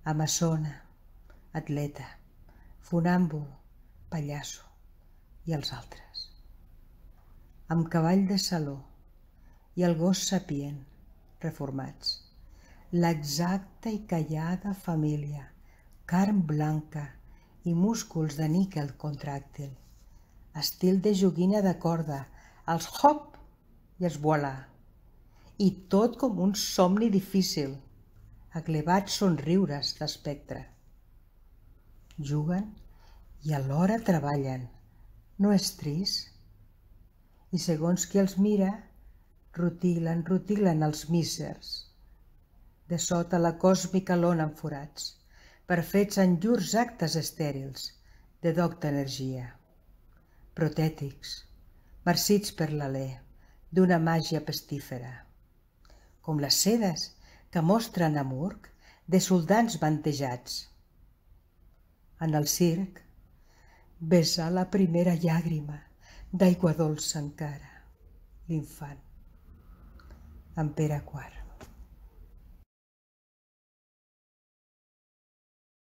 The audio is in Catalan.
amazona, atleta, funàmbul, pallasso i els altres. Amb cavall de saló i el gos sapient, reformats. L'exacta i callada família, carn blanca i músculs de níquel contràctil, estil de joguina de corda, els hop i els voilà, i tot com un somni difícil, aglevats somriures d'espectre. Juguen i alhora treballen, no és trist? I segons qui els mira, rutilen els mísers. De sota la còsmica lona amb forats, perfets en llurs actes estèrils de docta energia. Protètics, marcits per l'alè d'una màgia pestífera. Com les sedes que mostren a Murg de soldans vantejats. En el circ, vessar la primera llàgrima d'aigua dolça encara, l'infant, en Pere IV.